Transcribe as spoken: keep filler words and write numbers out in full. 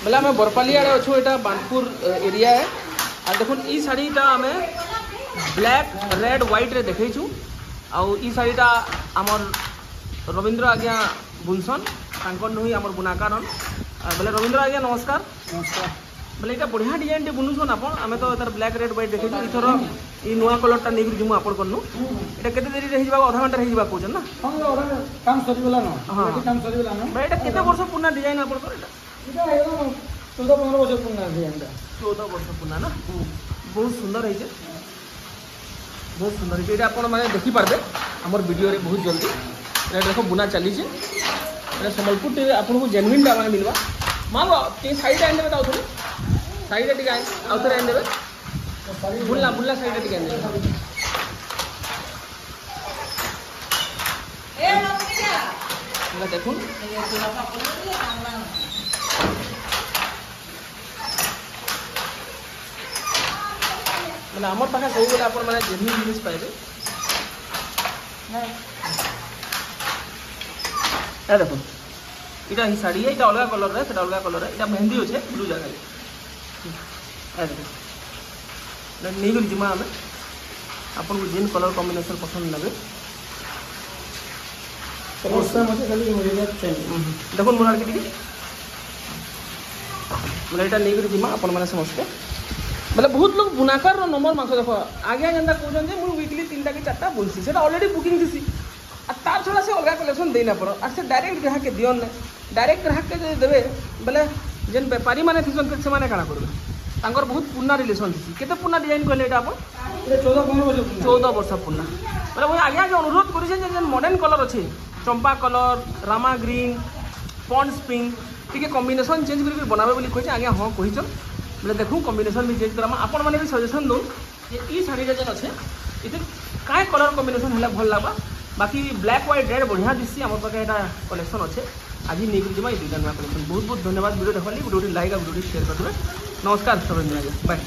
ବେଲେ ଆମେ ବରପାଲି ଆଡ଼େ ଅଛୁ, ଏଇଟା ବାନପୁର ଏରିଆ। আর দেখুন ଇ ଶାଢ଼ୀଟା ଆମେ ବ୍ଲାକ୍ ରେଡ୍ ହ୍ୱାଇଟ୍ରେ ଦେଖେଇଛୁ। ଆଉ ଇ ଶାଢ଼ୀଟା ଆମର୍ ରବୀନ୍ଦ୍ର ଆଜ୍ଞା ବୁନସନ୍, ତାଙ୍କର୍ ନୁହିଁ ଆମର୍ ବୁନାକାରନ୍। ବେଲେ ରବୀନ୍ଦ୍ର ଆଜ୍ଞା, ନମସ୍କାର। ନମସ୍କାର। ବେଲେ ଏଇଟା ବଢ଼ିଆ ଡିଜାଇନଟେ ବୁନୁଛନ୍ ଆପଣ। ଆମେ ତ ତାର ବ୍ଲାକ୍ ରେଡ୍ ହ୍ୱାଇଟ୍ ଦେଖେଇଛୁ, ଏଇଥର ଇ ନୂଆ କଲର୍ଟା ନେଇକରି ଯିମୁ ଆପଣଙ୍କର୍ନୁ। ଏଇଟା କେତେ ଦେରିରେ ହେଇଯିବା? ଅଧା ଘଣ୍ଟାରେ ହେଇଯିବା କହୁଛନ୍ ନା? ହଁ, ଅଧା କାମ ସରିଗଲା ନ। ହଁ। କାମ ସରିଗଲା ନ। ଏଇଟା କେତେ ବର୍ଷ ପୁରୁଣା ଡିଜାଇନ ଆପଣଙ୍କର ଏଇଟା? ଏଇଟା ହେଇଗଲା ଚଉଦ ପନ୍ଦର ବର୍ଷ ପୁରୁଣା ଡିଜାଇନଟା। ଚଉଦ ବର୍ଷ ପୁରୁଣା ନା? ବହୁତ ସୁନ୍ଦର ହେଇছে, ବହୁତ ସୁନ୍ଦର ହେଇছে। ଏଇଟା ଆପଣ ମାନେ ଦେଖିପାରିବେ ଆମର ଭିଡ଼ିଓରେ ବହୁତ ଜଲ୍ଦି। ଏଇଟା ଦେଖ, ବୁନା ଚାଲିছে। ଏଇଟା ସମ୍ବଲପୁର ଆପଣଙ୍କୁ ଜେନୁଇନଟା ମାନେ ମିଲବା। ମା, ଟିକେ ଶାଢ଼ୀଟା ଆଣିଦେବେ ତ, ଆଉଥରେ ଶାଢ଼ୀଟା ଟିକେ ଆଉଥରେ ଆଣିଦେବେ। ବୁଲନା ବୁଲନା ଶାଢ଼ୀଟା ଟିକେ ଆଣିଦେବେ। ଦେଖୁন, ମାନେ আমার পাখে ସବୁବେଳେ ଆପଣ ମାନେ ଜେନୁଇନ୍ ଜିନିଷ ପାଇବେ। ଏ ଦେଖୁন, এটা এই শাড়ি, এটা ଅଲଗା କଲର୍, ସେଟା ଅଲଗା କଲର୍। এটা ମେହେନ୍ଦି ଅଛେ ବ୍ଲୁ ଜାଗାରେ। ଏ ଦେଖୁন, ନେଇକରି ଯିମା ଆମେ। ଆପଣଙ୍କୁ ଯେନ୍ କଲର୍ କମ୍ବିନେସନ୍ ପସନ୍ଦ ନେବେ। କଲର୍ ସେମ୍ ଅଛି, ଖାଲି ଚେଞ୍ଜ। ଦେଖୁন ମୋର ଆଡ଼କେ ଟିକେ। ବୋଲେ ଏଇଟା ନେଇକରି ଯିମା ଆପଣମାନେ ସମସ୍ତେ। ବୋଲେ ବହୁତ ଲୋକ ବୁନାକାରର ନମ୍ବର ମାଗସ। ଦେଖ ଆଜ୍ଞା, ଯେନ୍ତା କହୁଛନ୍ ଯେ ମୁଁ ୱିକଲି ତିନିଟା କି ଚାରିଟା ବୁନସି, ସେଟା ଅଲରେଡ଼ି ବୁକିଂ ଥିସି। আর তার ଛଡ଼ା ସେ ଅଲଗା କଲେକ୍ସନ୍ ଦେଇ ନା ପାର। ଆର୍ ସେ ଡାଇରେକ୍ଟ ଗ୍ରାହକକେ ଦିଅନ୍ ନାଇଁ। ଡାଇରେକ୍ଟ ଗ୍ରାହକକେ ଯଦି ଦେବେ ବେଲେ ଯେନ୍ ବେପାରୀ ମାନେ ଥିସନ୍, ଫିର୍ ସେମାନେ କାଣା କରିବେ? ତାଙ୍କର ବହୁତ ପୁରୁଣା ରିଲେସନ୍ ଥିସି। କେତେ ପୁରୁଣା ଡିଜାଇନ୍ କହିଲେ ଏଇଟା ଆପଣ? ଏଇଟା ଚଉଦ ପନ୍ଦର ବର୍ଷ ପୁରୁଣା। ଚଉଦ ବର୍ଷ ପୁରୁଣା। ବେଲେ ମୁଇଁ ଆଜ୍ଞାକେ ଅନୁରୋଧ କରୁଛେ ଯେ ଯେନ୍ ମଡର୍ଣ୍ଣ କଲର୍ ଅଛେ, ଚମ୍ପା କଲର୍, ରାମା ଗ୍ରୀନ୍, ପଣ୍ଡସ୍ ପିଙ୍କ, ଟିକେ କମ୍ବିନେସନ୍ ଚେଞ୍ଜ କରିକି ବନାବେ ବୋଲି କହିଛେ। ଆଜ୍ଞା ହଁ କହିଛନ୍। ବେଲେ ଦେଖୁନ୍, କମ୍ବିନେସନ୍ ବି ଚେଞ୍ଜ କରାମା। ଆପଣମାନେ ବି ସଜେସନ୍ ଦଉନ୍ ଯେ ଇ ଶାଢ଼ୀଟା ଯେନ୍ ଅଛେ, ଏଥିରେ କାଏଁ କଲର୍ କମ୍ବିନେସନ୍ ହେଲେ ଭଲ୍ ଲାଗ୍ବା। ବାକି ବ୍ଲାକ୍ ହ୍ୱାଇଟ୍ ରେଡ୍ ବଢ଼ିଆ ଦିଶି। ଆମର ପାଖେ ଏଇଟା କଲେକ୍ସନ୍ ଅଛେ। ଆଜି ନେଇକରି ଯିମା ଏଇ ଦୁଇଟା ନୂଆ କଲେକ୍ସନ୍। ବହୁତ ବହୁତ ଧନ୍ୟବାଦ ଭିଡ଼ିଓ ଦେଖବାର୍ ଲାଗି। ଗୋଟେ ଗୋଟେ ଲାଇକ୍ ଆଉ ଗୋଟେ ଗୋଟେ ସେୟାର କରିଦେବେ। ନମସ୍କାର ରବୀନ୍ଦ୍ର ଆଜ୍ଞା, ବାଏ।